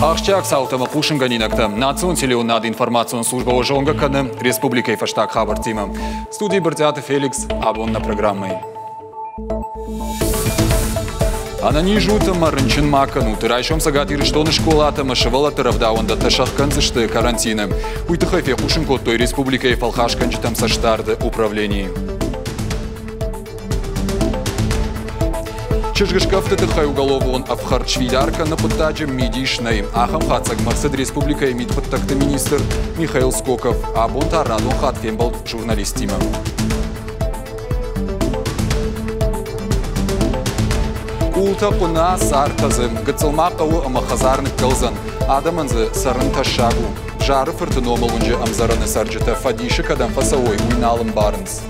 Ахсджиаг цаутӕ ӕмӕ хъусынгӕнинӕгтӕ. Национ телеуынынады информацион службӕ уӕ зонгӕ кӕны республикӕйы фӕстаг хабӕрттимӕ. Студийы Брытъиаты Феликс абон нӕ программӕйы. Ӕнӕниз ут ӕмӕ рынчын ма кӕнут. Райсом Цӕгат Ирыстоны скъолатӕ ӕмӕ сывӕллӕтты рӕвдауӕндӕттӕ сӕхгӕндзысты карантины. Уый тыххӕй фехъусын кодтой республикӕйы фӕлхасгӕнджытӕм цӕстдарды управленийы. Чызгыскъӕфты тыххӕй уголовон ӕфхӕрд сфидар кӕныны хъуыддаджы мидис нӕй. Ахӕм хатдзӕгмӕ ӕрцыд республикӕйы мидхъуыддӕгты министр Михаил Скоков. Абон та радон хатт фембӕлд журналисттимӕ. Къултӕ хъуына, цартӕ дзы. Гыццыл ма хъӕуы ӕмӕ хӕдзар ныккӕлдзӕн. Адӕмӕн дзы цӕрын тӕссаг у. Зары фырты номыл уынджы ӕмдзӕрӕны цӕрджытӕ фӕдисы кӕдӕм фӕцӕуой, уый нал ӕмбарынц.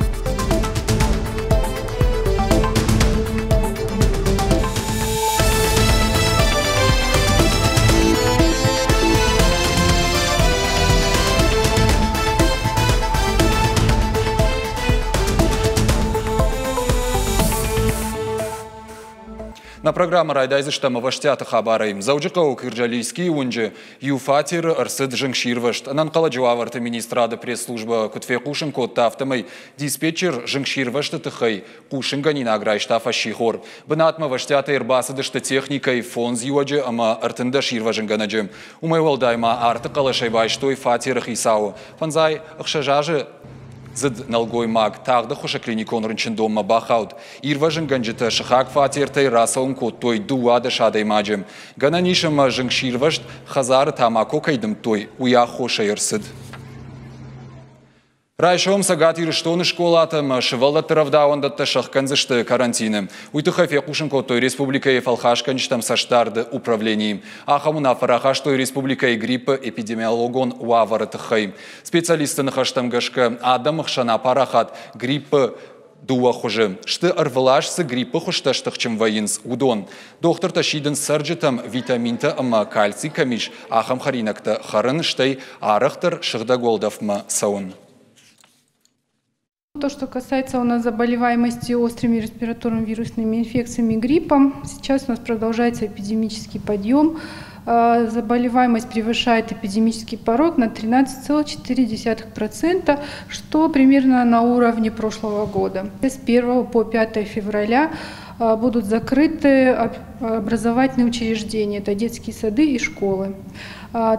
Нӕ программӕ райдайдзыстӕм ӕвӕстиаты хабарӕй. Дзӕуджыхъӕуы Кырджалийскийы уынджы иу фатеры ӕрцыд зынгсирвӕзт. Ӕнӕнхъӕлӕджы уавӕрты министрады пресс-службӕ куыд фехъусын кодта, афтӕмӕй диспетчер зынгсирвӕзты тыххӕй хъусынгӕнинаг райста фӕссихор. Бынатмӕ ӕвӕстиатӕй ӕрбацыдысты техникӕйы фондз иуӕджы ӕмӕ 13 ирвӕзынгӕнӕджы. Уымӕй уӕлдай ма арты хъӕлӕсӕй байстой фатеры хицауы. Фӕндзай ӕхсӕз азы дзыд нӕлгоймаг тагъд ӕххуысы клиникон рынчындонмӕ бахауд. Ирвӕзынгӕнджытӕ сыхаг фатертӕй рацӕуын кодтой 12 адӕймаджы. Гӕнӕн ис ӕмӕ зынгсирвӕзт хӕдзары тамако кӕй дымдтой, уый аххосӕй ӕрцыд. Райсом Цӕгат Ирыстоны скъолатӕ ӕмӕ сывӕллӕтты рӕвдауӕндӕттӕ сӕхгӕндзысты карантины. Уый тыххӕй фехъусын кодтой республикӕйы фӕлхасгӕнджытӕм цӕстдарды управленийы. Ахӕм уынаффӕ рахастой республикӕйы гриппы эпидемиологон уавӕры тыххӕй. Специалистты ныхӕстӕм гӕсгӕ, адӕмы хсӕн апарахат гриппы дыууӕ хуызы. Сты ӕрвылаз цы гриппы хуызтӕ стыхджын вӕййынц, уыдон. Дохтыртӕ сидынц цӕрджытӕм витаминтӕ ӕмӕ кальций кӕм ис, ахӕм хӕринӕгтӕ хӕрын, стӕй арӕхдӕр сыгъдӕг уӕлдӕфмӕ цӕуын. То, что касается у нас заболеваемости острыми респираторными вирусными инфекциями, гриппом, сейчас у нас продолжается эпидемический подъем. Заболеваемость превышает эпидемический порог на 13,4%, что примерно на уровне прошлого года. С 1 по 5 февраля будут закрыты образовательные учреждения, это детские сады и школы.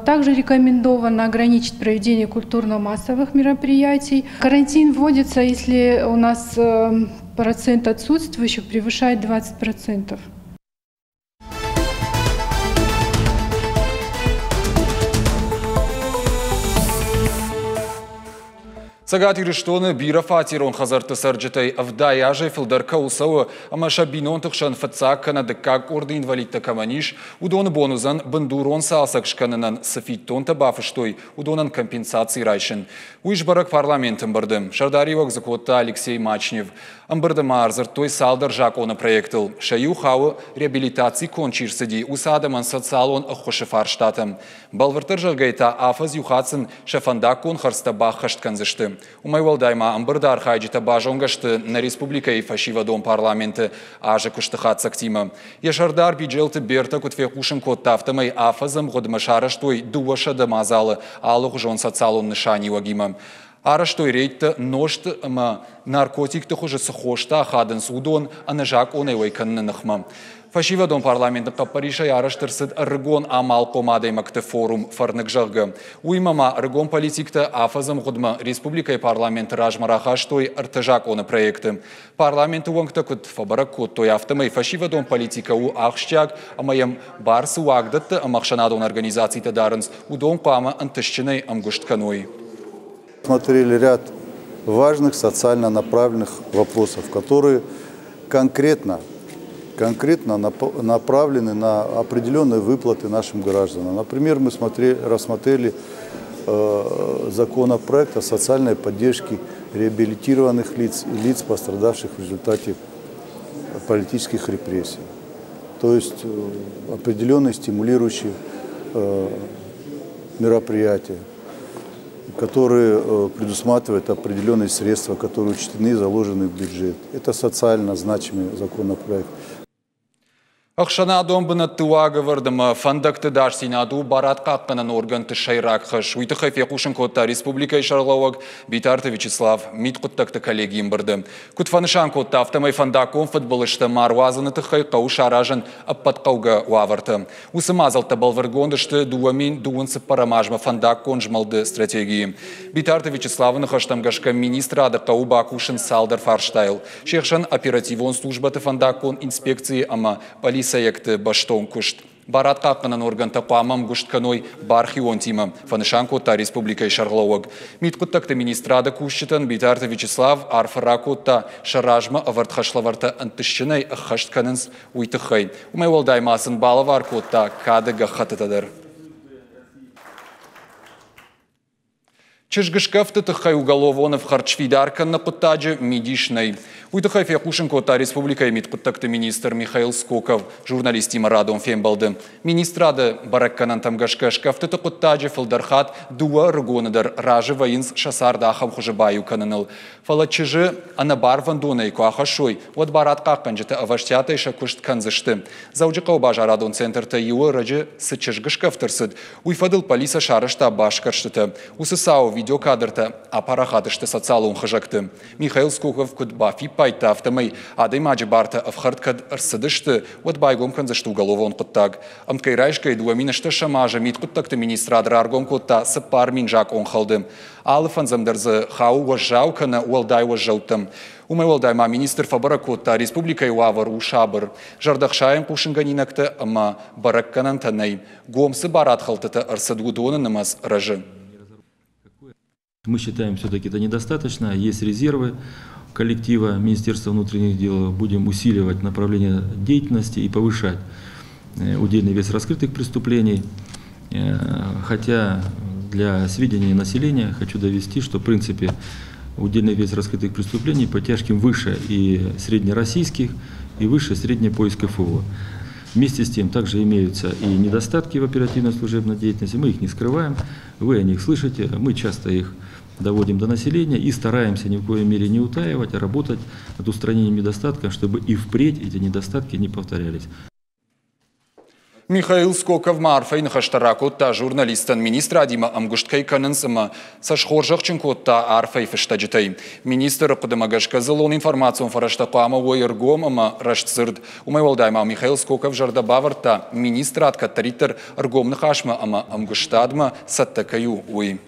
Также рекомендовано ограничить проведение культурно-массовых мероприятий. Карантин вводится, если у нас процент отсутствующих превышает 20%. Цӕгат Ирыстоны бирӕфатерон хӕдзӕртты цӕрджытӕй 70 азӕй фылдӕр кӕуыл цӕуы ӕмӕ сӕ бинонты хсӕн фыццаг кӕнӕ дыккаг къорды инвалидтӕ кӕмӕн ис, уыдоны бон уыдзӕн бындурон цалцӕг скӕнынӕн цы фиддонтӕ бафыстой, уыдонӕн компенсаци райсын. Уый сбӕрӕг парламенты ӕмбырды. Сӕрдариуӕг дзы кодта Алексей Мачнев. Ӕмбырды ма ӕрдзырдтой цалдӕр закъоны проектыл. Сӕ иу хауы, реабилитаци конд чи рцыди, уыцы адӕмӕн социалон ӕххуысы фарстатӕм. Бӕлвырддӕр зӕгъгӕйӕ та афӕдз иу хатт сын сӕ фӕндаггон хӕрдзтӕ баххӕст кӕндзысты. Уымӕй уӕлдай ма ӕмбырды архайджытӕ базонгӕ сты нӕ республикӕйы фӕсивӕдон парламенты азы куысты хатдзӕгтимӕ. Йӕ сӕрдар Биджелты Бертӕ куыд фехъусын кодта, афтӕмӕй афӕдзы ӕмгъуыдмӕ сарӕзтой 200 мадзалы алыгъуызон социалон нысаниуӕгимӕ. Арӕзтой рейдтӕ нозт ӕмӕ наркотикты хуызы цы хостӕ ахадынц, уыдон ӕнӕзакъонӕй уӕй кӕныны ныхмӕ. Фӕсивӕдон парламенты хъӕппӕрисӕй арӕзт ӕрцыд ӕрыгон амалхъом адӕймӕгты форум «Фӕрныг», зӕгъгӕ. Уыимӕ ма ӕрыгон политиктӕ афӕдзы ӕмгъуыдмӕ республикӕйы парламенты размӕ рахастой ӕртӕ закъоны проекты. Парламенты уӕнгтӕ куыд фӕбӕрӕг кодтой, афтӕмӕй фӕсивӕдон политикӕ у ахсджиаг ӕмӕ йӕм бар цы уагдӕтты ӕмӕ ӕхсӕнадон организацитӕ дарынц, уыдон хъуамӕ ӕнтыстджынӕй ӕмгуыст кӕной. Смотрели ряд важных социально направленных вопросов, которые конкретно направлены на определенные выплаты нашим гражданам. Например, мы рассмотрели законопроект о социальной поддержке реабилитированных лиц и лиц, пострадавших в результате политических репрессий. То есть определенные стимулирующие мероприятия, которые предусматривают определенные средства, которые учтены и заложены в бюджет. Это социально значимый законопроект. Ӕхсӕнадон бынӕтты уагӕвӕрд ӕмӕ фӕндӕгты ӕдасдзинад у барадхъахъхъӕнӕн органты сӕйраг хӕс. Уый тыххӕй фехъусын кодта республикӕйы сӕргълӕууӕг Битарты Вячеслав мидхъуыддӕгты коллегийы ӕмбырды. Куыд фӕнысан кодта, афтӕмӕй фӕндаггон фыдбылызтӕ ма руадзыны тыххӕй хъӕуы саразын ӕппӕт хъӕугӕ уавӕртӕ. Уыцы мадзӕлттӕ бӕлвырдгонд сты 2024 азмӕ фӕндаггон змӕлды стратегийы. Битарты Вячеславы ныхӕстӕм гӕсгӕ министрады хъӕуы бакусын цалдӕр фарстайыл. Се хсӕн оперативон службӕты фӕндаггон инспекцийы ӕмӕ пъӕлицӕйӕгты бӕстон куыст. Барадхъахъхъӕнӕн органтӕ хъуамӕ ӕмгуыст кӕной бархионтимӕ, фӕнысан кодта республикӕйы сӕргълӕууӕг. Мидхъуыддӕгты министрады кусджытӕн Битарты Вячеслав арфӕ ракодта, сӕ размӕ ӕвӕрд хӕслӕвӕрдтӕ ӕнтыстджынӕй ӕххӕст кӕнынц, уый тыххӕй. Уымӕй уӕлдай ма сын балӕвар кодта кады гӕххӕттытӕ дӕр. Чызгыскъӕфты тыххӕй уголовон ӕфхӕрд сфидар кӕныны хъуыддаджы мидис нӕй. Уый тыххӕй фехъусын кодта республикӕйы мидхъуыддӕгты министр Михаил Скоков журналисттимӕ радон фембӕлды. Министрады бӕрӕггӕнӕнтӕм гӕсгӕ скъӕфтыты хъуыддаджы фылдӕр хатт дыууӕ ӕрыгоны дӕр разы вӕййынц сӕ цард ахӕм хуызы баиу кӕныныл. Фӕлӕ чызджы ӕнӕбарвӕндонӕй куы ахӕссой, уӕд барадхъахъхъӕнджытӕ ӕвӕстиатӕй сӕ куыст кӕндзысты. Дзӕуджыхъӕуы базарадон центртӕй иуы ӕрӕджы цы чызгыскъӕфт ӕрцыд, уый фӕдыл полицӕ сарӕзта басгӕрстытӕ. Уыцы цауы видеокадртӕ апарахат сты социалон хызӕгты. Михаил Скоков куыд бафиппайдта, афтӕмӕй адӕймаджы бартӕ ӕфхӕрд кӕд ӕрцыдысты, уӕд байгом кӕндзысты уголовон хъуыддаг. Ӕмткӕй райсгӕйы 2008 азы мидхъуыддӕгты министрад раргом кодта 4000 закъонхӕлды. Алы фӕндзӕм дӕр дзы хауы уӕззау кӕнӕ уӕлдай уӕззӕуттӕм. Уымӕй уӕлдай ма министр фӕбӕрӕг кодта, республикӕйы уавӕр у сабыр. Зӕрдӕхсайӕн хъусынгӕнинӕгтӕ ӕмӕ бӕрӕггӕнӕнтӕ нӕй. Гом цы барадхӕлдтытӕ ӕрцыд, уыдоны нымӕц рӕзы. Мы считаем, все-таки это недостаточно. Есть резервы коллектива Министерства внутренних дел. Будем усиливать направление деятельности и повышать удельный вес раскрытых преступлений. Хотя для сведения населения хочу довести, что в принципе удельный вес раскрытых преступлений по тяжким выше и среднероссийских, и выше средней по СКФО. Вместе с тем также имеются и недостатки в оперативно-служебной деятельности, мы их не скрываем, вы о них слышите, мы часто их доводим до населения и стараемся ни в коей мере не утаивать, а работать над устранением недостатков, чтобы и впредь эти недостатки не повторялись. Михаил Скоков ма арфӕйы ныхӕстӕ ракодта журналисттӕн министрадимӕ ӕмгуыст кӕй кӕнынц ӕмӕ сӕ схорзӕхджын кодта арфӕйы фыстӕджытӕй. Министры хъуыдымӕ гӕсгӕ дзыллон информацион фӕрӕзтӕ хъуамӕ уой ӕргом ӕмӕ рӕстдзырд. Уымӕй уӕлдай ма Михаил Скоков зӕрдӕ бавӕрдта, министрад кӕддӕриддӕр ӕргом ныхасмӕ ӕмӕ ӕмгуыстадмӕ цӕттӕ кӕй у, уый.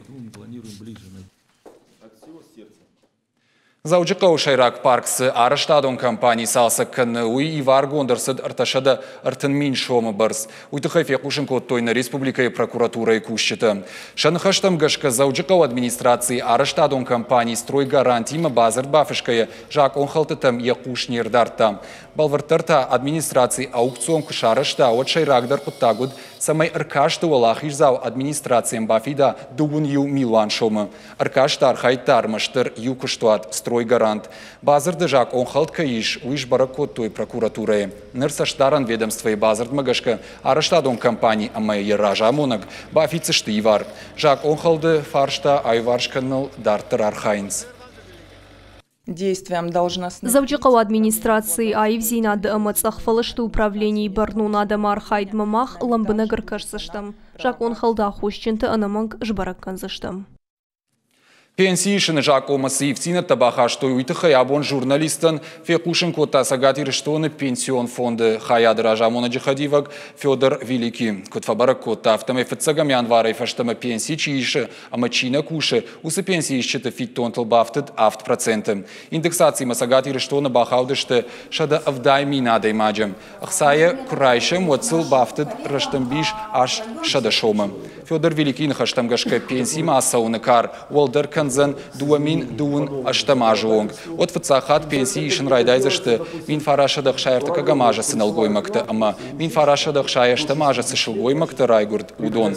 Дзӕуджыхъӕуы сӕйраг парк цы арӕзтадон компани цалцӕг кӕны, уый иваргонд ӕрцыд 330 000 сомы бӕрц. Уый тыххӕй фехъусын кодтой нӕ республикӕйы прокуратурӕйы кусджытӕ. Сӕ ныхӕстӕм гӕсгӕ Дзӕуджыхъӕуы администрацийы арӕзтадон компани «Стройгаранти»-мӕ бадзырд бафысгӕйӕ закъонхӕлдтытӕм йӕ хъус не рдардта. Бӕлвырддӕр та администраци аукцион куы сарӕзта, уӕд сӕйрагдӕр хъуыддаг уыд, цӕмӕй ӕркасты уӕлахиздзау администрацийӕн бафида 21 милуан сомы. Ӕркасты архайдта ӕрмӕстдӕр иу куыстуат «Стройгарант». Бадзырды закъон хӕлд кӕй ис, уый сбӕрӕг кодтой прокуратурӕйы. Ныр цӕстдарӕн ведомствойы бадзырдмӕ гӕсгӕ арӕзтадон компани ӕмӕ йӕ разамонӕг бафиддзысты ивар. Закъонхӕлды фарста аиуварс кӕныныл дарддӕр архайынц. Действиям должностных. Дзӕуджыхъӕуы администрацийы аивдзинады ӕмӕ цъӕхфӕлысты управленийы бӕрнон адӕмы архайдмӕ мах лӕмбынӕг ӕркӕсдзыстӕм. Закъонхӕлды аххосджынты ӕнӕмӕнг сбӕрӕг кӕндзыстӕм. Пенси исыны закъонмӕ цы ивддзинӕдтӕ бахастой, уый тыххӕй абон журналисттӕн фехъусын кодта Цӕгат Ирыстоны пенсион фонды хайады разамонӕджы хӕдивӕг Федор Великий. Куыд фӕбӕрӕг кодта, афтӕмӕй фыццӕгӕм январӕй фӕстӕмӕ пенси чи исы ӕмӕ чи нӕ кусы, уыцы пенсиисджыты фиддонтыл бафтыд 7%. Индексацимӕ Цӕгат Ирыстоны бахаудысты 170 000 адӕймаджы. Ӕхцайӕ куы райсӕм, уӕд сыл бафтыд рӕстӕмбис 800 сомы. Федор Великийы ныхӕстӕм гӕсгӕ пенсимӕ ацӕуыны кар уӕлдӕр кӕндзӕн 2028 азы онг. Уӕд фыццаг хатт пенси исын райдайдзысты 1963 азы цы нӕлгоймӕгтӕ ӕмӕ 1968 азы цы сылгоймӕгтӕ райгуырд, уыдон.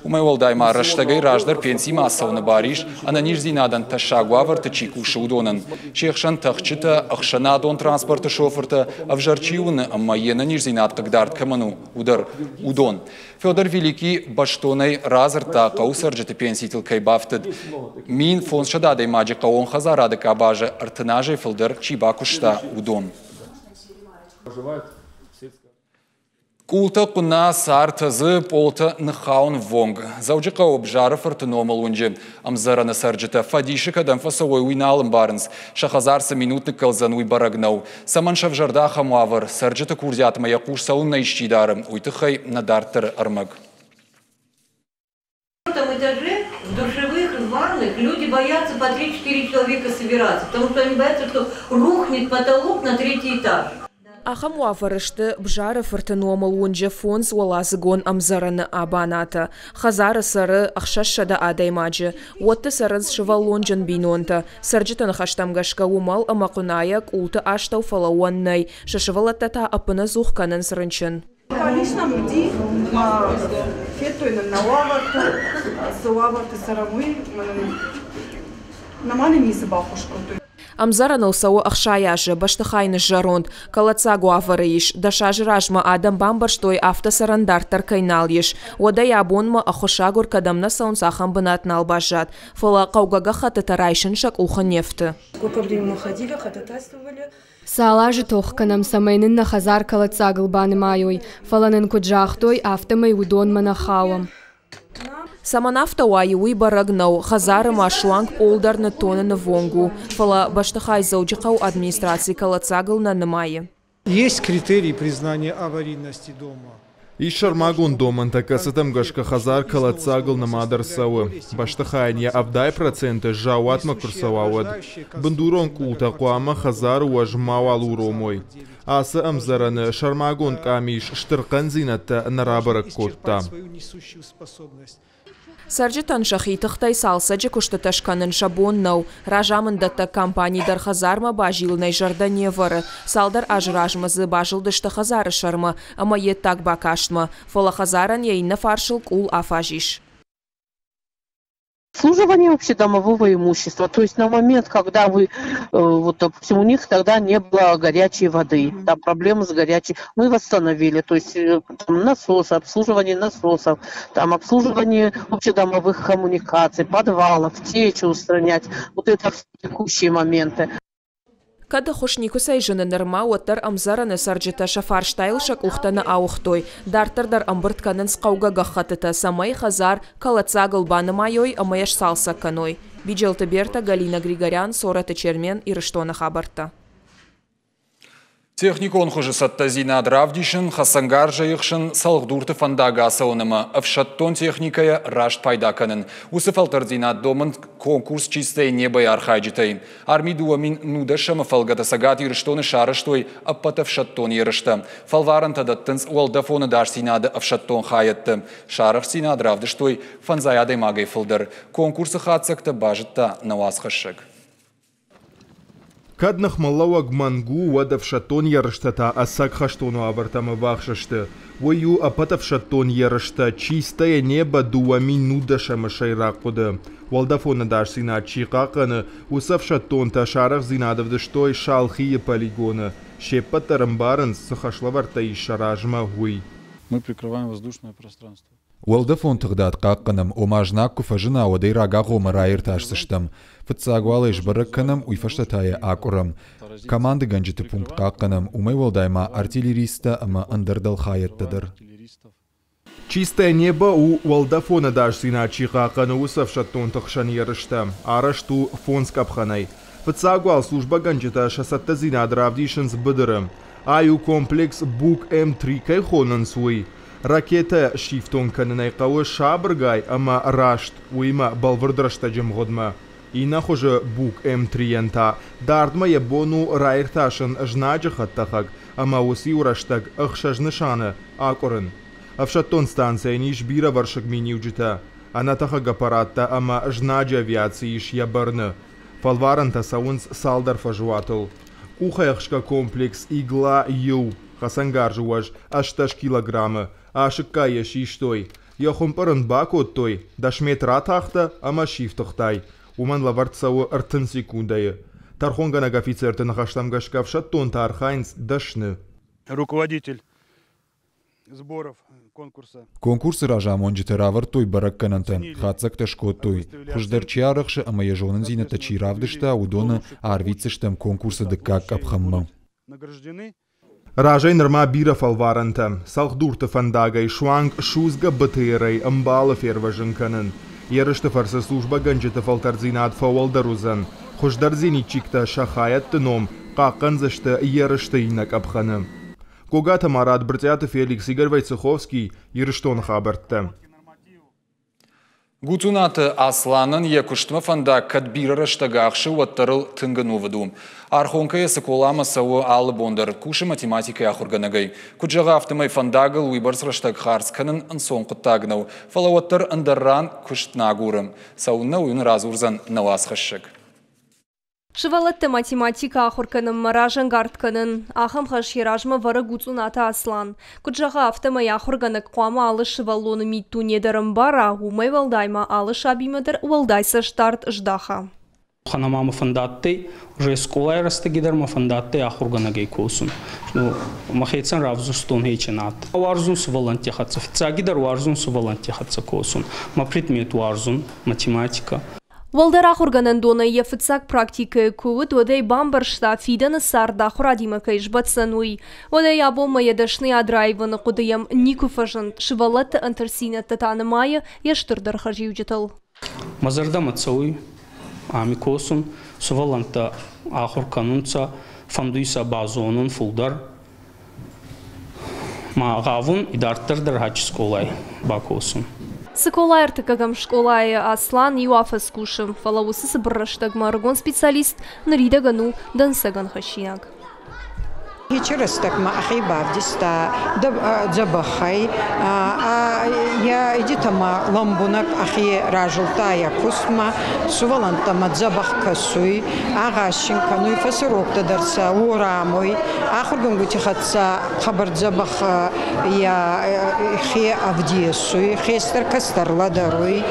Уымӕй уӕлдай ма рӕстӕгӕй раздӕр пенсимӕ ацӕуыны бар ис, ӕнӕниздзинадӕн тӕссаг уавӕрты чи кусы, уыдонӕн. Се хсӕн тӕхджытӕ, ӕхсӕнадон транспорты шофыртӕ, ӕвзӕр чи уыны ӕмӕ йе нӕниздзинад хъыгдард кӕмӕн у, уыдон. Федор Великий бӕстонӕй радзырдта, хъӕуы цӕрджыты пенситыл кӕй бафтыд. 1500 адӕймаджы хъӕууон хӕдзарады къабазы 30 азӕй фылдӕр чи бакуыста, уыдон. Къултӕ хъуына, цар тӕдзы, пъолтӕ ныххауынввонг. Дзӕуджыхъӕуы Бзары-фырты номыл уынджы ӕмдзӕрӕны цӕрджытӕ фӕдисы кӕдӕм фӕцӕуой, уый нал ӕмбарынц. Сӕ хӕдзар цы минут ныккӕлдзӕн, уый бӕрӕг нӕу. Цӕмӕн сӕвзӕрд ахӕм уавӕр, цӕрджыты курдиатмӕ йӕ хъус цӕуыннӕ исчи дары, уый тыххӕй нӕ дарддӕры ӕрмӕг. этаже в душевых, в ванных люди боятся по 3-4 человека собираться, потому что они боятся, что рухнет потолок на третий этаж. Ахӕм уавӕры сты Бзары-фырты номыл уынджы фондзуӕладзыгон ӕмдзӕрӕны абанатӕ. Хӕдзары цӕры 600 адӕймаджы. Уӕтты цӕрынц сывӕллонджын бинонтӕ. Цӕрджыты ныхӕстӕм гӕсгӕ уымӕл ӕмӕ хъуынайӕ къулты астӕу фӕлӕууӕн нӕй, сӕ сывӕллӕттӕ та ӕппынӕдзух кӕнынц рынчын. Къамис нӕм уыди, ӕмӕ федтой нын нӕ уавӕртӕ, цы уавӕрты цӕрӕм, уый, ӕмӕ нын нӕма нын ницы баххуыс кодтой. Ӕмдзӕрӕныл цӕуы 60 азы, бӕстыхай ныззӕронд, кӕлӕддзаг уавӕры ис. 10 азы размӕ адӕм бамбӕрстой, афтӕ цӕрӕн дарддӕр кӕй нал ис. Уӕдӕй абонмӕ ӕххуысагур кӕдӕм нӕ цӕуынц, ахӕм бынат нал баззад. Фӕлӕ хъӕугӕ гӕххӕттытӕ райсын сӕ къухы не фты. Сколько времени мы ходили, ходатайствовали. Цал азы тох кӕнӕм, цӕмӕй нын нӕ хӕдзар кӕлӕддзагыл банымайой, фӕлӕ нын куыд загътой, афтӕмӕй уыдонмӕ нӕ хауӕм. Цӕмӕн афтӕ уайы, уый бӕрӕг нӕу. Хӕдзары ма суанг пъол дӕр ныттоныны ввонг у. Фӕлӕ бӕстыхай Дзӕуджыхъӕуы администраци кӕлӕддзагыл нӕ нымайы. Есть критерии признания аварийности дома. Ис сӕрмагонд домӕнтӕ, кӕцытӕм гӕсгӕ хӕдзар кӕлӕддзагыл нымад ӕрцӕуы. Бӕстыхайӕн йӕ 70% заууатмӕ куы рцӕуа, уӕд. Бындурон къултӕ хъуамӕ хӕдзары уӕз мауал уромой. Ацы ӕмдзӕрӕны сӕрмагонд къамис стыр хъӕндзинӕдтӕ нӕ рабӕрӕг кодта. Цӕрджытӕн сӕхи тыхтӕй цалцӕджы куыстытӕ скӕнын сӕ бон нӕу. Разамынддӕттӕг компани дӕр хӕдзармӕ базилынӕй зӕрдӕ не вӕры. Цалдӕр азы размӕ дзы базылдысты хӕдзары сӕрмӕ ӕмӕ йе ддаг бакастмӕ. Фӕлӕ хӕдзарӕн йӕ иннӕ фарсыл къул афаз ис. Обслуживание общедомового имущества. То есть на момент, когда вы, вот, допустим, у них тогда не было горячей воды, там проблемы с горячей, мы восстановили, то есть там, насосы, обслуживание насосов, там обслуживание общедомовых коммуникаций, подвалов, течи устранять, вот это все текущие моменты. Кӕд ӕххуыс никуыцӕй зыны нырма, уӕддӕр ӕмдзӕрӕны цӕрджытӕ сӕ фарстайыл сӕ къухтӕ нӕ ауыгътой. Дарддӕр дӕр ӕмбырд кӕнынц хъӕугӕ гӕххӕттытӕ, цӕмӕй хӕдзар кӕлӕддзагыл банымайой ӕмӕ йӕ сцалцӕг кӕной. Биджелты Берта, Галина Григорян, Цорӕты Чермен, Ирыстоны хабӕрттӕ. Техникон хуызы цӕттӕдзинад равдисын, хӕцӕнгарзӕй ӕхсын, цӕлхдурты фӕндаг ацӕуын ӕмӕ ӕфсӕддон техникӕйӕ раст пайда кӕнын. Уыцы фӕлтӕрддзинад домынц конкурс «Чистое небо»-йы архайджытӕй. Арми 2019-ы фӕлгӕты Цӕгат Ирыстоны сарӕзтой ӕппӕт ӕфсӕддон ерыстӕ. Фӕлварӕнтӕ дӕттынц уӕлдӕфон ӕдасдзинады ӕфсӕддон хайӕдты. Сӕ арӕхстдзинад равдыстой фӕндзай адӕймагӕй фылдӕр. Конкурсы хатдзӕгтӕ базыдта нӕ уацхӕссӕг. Кӕд ныхмӕлӕууӕг мӕнг у, уӕд ӕфсӕддон ерыстӕ та ӕцӕг хӕстон уавӕртӕм ӕввахс сты. Уый у ӕппӕт ӕфсӕддон ерыстӕ «Чистое небо» 2019-ы сӕйраг хъуыды. Уӕлдӕфон ӕдасдзинад чи хъахъхъӕны, уыцы ӕфсӕддонтӕ сӕ арӕхстдзинад ӕвдыстой Шалхийы полигоны. Се ппӕт дӕр ӕмбарынц, цы хӕслӕвӕрдтӕ ис сӕ размӕ, уый. Мы прикрываем воздушное пространство. Уӕлдӕфон тыгъдад хъахъхъӕнӕм, ома знаг куы фӕзына, уӕд ӕй рагагъоммӕ раиртасдзыстӕм. Фыццаг уал ӕй сбӕрӕг кӕнӕм, уый фӕстӕ та йӕ акъуырӕм. Командыгӕнджыты пункт хъахъхъӕнӕм, уымӕй уӕлдай ма артиллеристтӕ ӕмӕ ӕндӕр дӕлхайӕдтӕ дӕр. «Чистое небо» у уӕлдӕфон ӕдасдзинад чи хъахъхъӕны, уыцы ӕфсӕддонты хсӕн ерыстӕ. Арӕзт у фондз къӕпхӕнӕй. Фыццаг уал службӕгӕнджытӕ сӕ цӕттӕдзинад равдисынц быдыры. Ай у комплекс «Бук-М3» кӕй хонынц, уый. Ракетӕ сифтонг кӕнынӕй хъӕуы сабыргай ӕмӕ раст, уыимӕ бӕлвырд рӕстӕджы мгъуыдмӕ. Иннӕ хуызы «Бук-М3»-йӕн та дардмӕ йӕ бон у раиртасын знаджы хӕдтӕхӕг ӕмӕ уыцы-иу рӕстӕг 6 нысаны акъуырын. Ӕфсӕддон станцӕйӕн ис бирӕвӕрсыг миниуджытӕ. Ӕнӕтӕхӕг аппараттӕ ӕмӕ знаджы авиаци ис йӕ бӕрны. Фӕлварӕнтӕ цӕуынц цалдӕр фӕзуатыл. Къухӕйӕхсгӕ комплекс «Игла-1» хӕцӕнгарзы уӕз 18 килограммы. Асыккӕй йӕ систой. Йӕ хуымпъыр ын бакодтой, 10 метр атахтӕ ӕмӕ сифтыгътай. Уымӕн лӕвӕрд цӕуы 30 секундӕйы. Тӕрхонгӕнӕг офицерты ныхӕстӕм гӕсгӕ ӕфсӕддонтӕ архайынц дӕсны. Руководитель сборов конкурса. Конкурсы разамонджытӕ равӕрдтой бӕрӕггӕнӕнтӕ, хатдзӕгтӕ скодтой. Хуыздӕр чи арӕхсы ӕмӕ йӕ зонындзинӕдтӕ чи равдыста, уыдоны арвитдзыстӕм конкурсы дыккаг къӕпхӕнмӕ. Награждены. Разӕй нырма бирӕ фӕлварӕнтӕ. Цӕлхдурты фӕндагӕй суанг судзгӕ БТР-ӕй ӕмбӕлы фервӕзын кӕнын. Ерысты фӕрцы службӕгӕнджыты фӕлтӕрддзинад фӕуӕлдӕр уыдзӕн. Хуыздӕр зенитчиктӕ сӕ хайӕдты ном хъахъхъӕндзысты ерысты иннӕ къӕпхӕны. Гогаты Марат, Брытъиаты Феликс, Игорь Войцеховский, Ирыстоны хабӕрттӕ. Гуцъунаты Асланӕн йӕ куыстмӕ фӕндаг кӕд бирӕ рӕстӕг ахсы, уӕддӕр ыл тынг ӕнувыд у. Архонкӕйӕ Цыколамӕ цӕуы алы бон дӕр, кусы математикӕйы ахуыргӕнӕгӕй. Куыд зӕгъы, афтӕмӕй фӕндагыл уыйбӕрц рӕстӕг хардз кӕнын ӕнцон хъуыддаг нӕу, фӕлӕ уӕддӕр ӕндӕр ран куыст нӕ агуры. Цӕуылнӕ, уый уын радзурдзӕн нӕ уацхӕссӕг. Сывӕллӕтты математикӕ ахуыр кӕнынмӕ разӕнгард кӕнын. Ахӕм хӕс йӕ размӕ вӕры Гуцъунаты Аслан. Куыд зӕгъы, афтӕмӕй ахуыргӕнӕг хъуамӕ алы сывӕллоны миддуне дӕр ӕмбара, уымӕй уӕлдай ма алы сабимӕ дӕр уӕлдай цӕстдард здаха. Ханама мӕ фӕндадтӕй, уже скъолай рӕстӕги дӕр мӕ фӕндадтӕй ахургӕнӕгӕй косун. Ну, мӕхецӕн равзурстон хечи над. Уарзун сувӕллӕнтти хӕццӕ. Фиццагидӕр уарзун сувӕллӕнтти хӕццӕ косун. Мӕ предмет уарзун, математикӕ. Уӕлдӕр ахуыргӕнӕндонӕй йӕ фыццаг практикӕйы куы уыд, уӕд ӕй бамбӕрста, фидӕны цард ахуырадимӕ кӕй сбӕтдзӕн, уый. Уӕдӕй абонмӕ йӕ дӕсныйад раивыны хъуыды йӕм никуы фӕзынд, сывӕллӕтты ӕнтыстдзинӕдтӕ та нымайы йӕ стырдӕр хӕрзиуджытыл. Мӕ зӕрдӕмӕ цӕуй ами косун, сувӕллӕнттӕ ахур кӕнунцӕ, фӕндуй сӕ базонун фулдӕр. Ма гъавун идарддӕр дӕр гьӕчи скъолай бакосун. Цыколайы ӕртыккӕгӕм скъолайы Аслан иу афӕдз кусы, фӕлӕ уыцы цыбыр рӕстӕгмӕ ӕрыгон специалист ныридӕгӕн у дӕнцӕгӕн хӕссинаг. Хечи рӕстӕгмӕ ӕхе бавдиста дзӕбӕхӕй, йӕ идитӕмӕ лӕмбунӕг ӕхе разилдта йӕ кустмӕ, сувӕллӕнттӕмӕ дзӕбӕх кӕсуй, агъаз син кӕнуй, фӕсуроктӕ дӕр сӕ уорамуй, ахургӕнгути хӕццӕ хъӕбӕр дзӕбӕх хе ӕвдесуй, хестӕр кӕстӕр лӕдӕруй.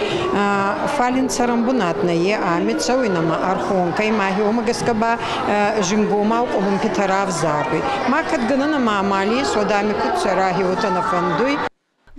Фал ин цӕрӕнбунат нӕййе, ами цӕуй нӕмӕ Ӕрхонкӕй, ма уомӕ гӕсгӕ ба зингомау къулумпитӕ равзаруй. Ма кӕд гӕнӕн ӕма амал ес, уӕд ами куд цӕра, уотӕ нӕ фӕндуй.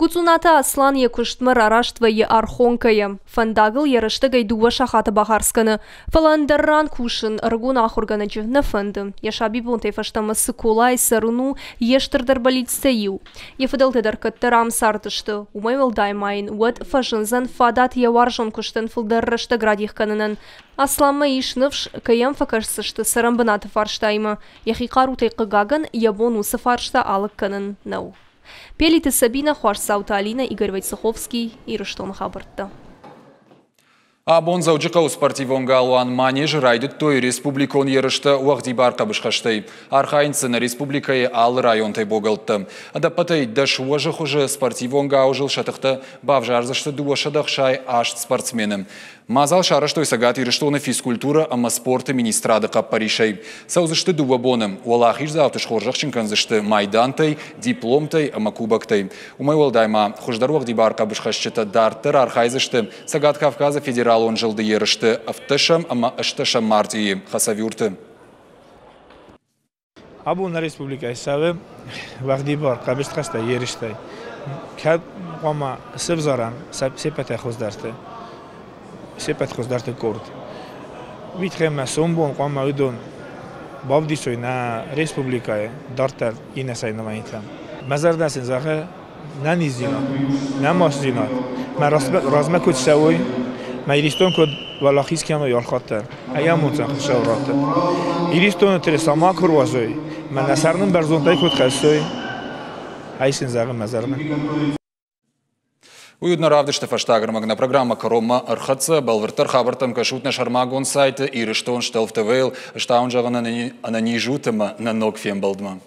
Гуцъунаты Аслан йӕ куыстмӕ рараст вӕййы Архонкӕйӕ. Фӕндагыл йӕ рӕстӕгӕй дыууӕ сахаты бахардз кӕны. Фӕлӕ ӕндӕр ран кусын ӕрыгон ахуыргӕнӕджы нӕ фӕнды. Йӕ сабибонтӕй фӕстӕмӕ Цыколайы цӕрын у йе стырдӕр бӕллицтӕй иу. Йӕ фыдӕлтӕ дӕр кӕддӕр ам цардысты. Уымӕй уӕлдай ма йын уӕд фӕзындзӕн фадат йӕ уарзон куыстӕн фылдӕр рӕстӕг радих кӕнынӕн. Асланмӕ ис ныфс, кӕй йӕм фӕкӕсдзысты цӕрӕнбынаты фарстаимӕ. Йӕхи хъарутӕй хъыгагӕн, йӕ бон уыцы фарста алыг кӕнын нӕу. Пелиты Сабина, Хуасдзауты Алинӕ, Игорь Войцеховский, Ирыстоны хабӕрттӕ. Абон Дзӕуджыхъӕуы спортивон галуан Манеж-ы райдыдтой республикон ерыстӕ уӕгъдибар хъӕбысхӕстӕй. Архайынц дзы нӕ республикӕйы алы районтӕй богӕлттӕ. Ӕдӕппӕтӕй 10 уӕзы хуызы спортивон гауызыл сӕ тыхтӕ бавзардзысты 268 спортсмены. Мадзал сарӕзтой Цӕгат Ирыстоны физкультурӕ ӕмӕ спорты министрады хъӕппӕрисӕй. Цӕудзысты дыууӕ боны. Уӕлахиздзауты схорзӕхджын кӕндзысты майдантӕй, дипломтӕй ӕмӕ кубоктӕй. Уымӕй уӕлдай ма хуыздӕр уӕгъдибар хъӕбысхӕсджытӕ дарддӕр архайдзысты Цӕгат Кавказы федералон зылды ерысты ӕвддӕсӕм ӕмӕ ӕстдӕсӕм мартъийы Хасавюрты. Абон нӕ республикӕйы цӕуы уӕгъдибар хъӕбысхӕстӕй ерыстӕй. Кӕд хъуамӕ сывзарӕм се ппӕтӕй хуыздӕрты, се ппӕт хуыздӕрты къорд. Уый тыххӕй ма сомбон хъуамӕ уыдон бавдисой нӕ республикӕйы дарддӕр иннӕ соревнованитӕм. Мӕ зӕрдӕ сын зӕгъы нӕниздзинад, нӕ мастдзинад, мӕ размӕ куыд цӕуой, мӕ Иристон куыд уӕлахиз кӕной алхатт дӕр, ӕй амонддзӕн Хуыцау раттӕд. Иристоны тырыса ма куы руадзой, мӕ нӕ сӕр нын бӕрзондӕй куыд хӕссой, ӕй сын зӕгъы мӕ зӕрдӕ. Уый уыд нӕ равдысты фӕстаг ӕрмӕг. Нӕ программӕ кӕронмӕ ӕрхӕццӕ. Бӕлвырддӕр хабӕрттӕм кӕсут нӕ сӕрмагонд сайты Ирыстон Стелф ТВ-йыл. Стауын зӕгъын ӕнӕниз ут ӕмӕ нӕ ног фембӕлдмӕ.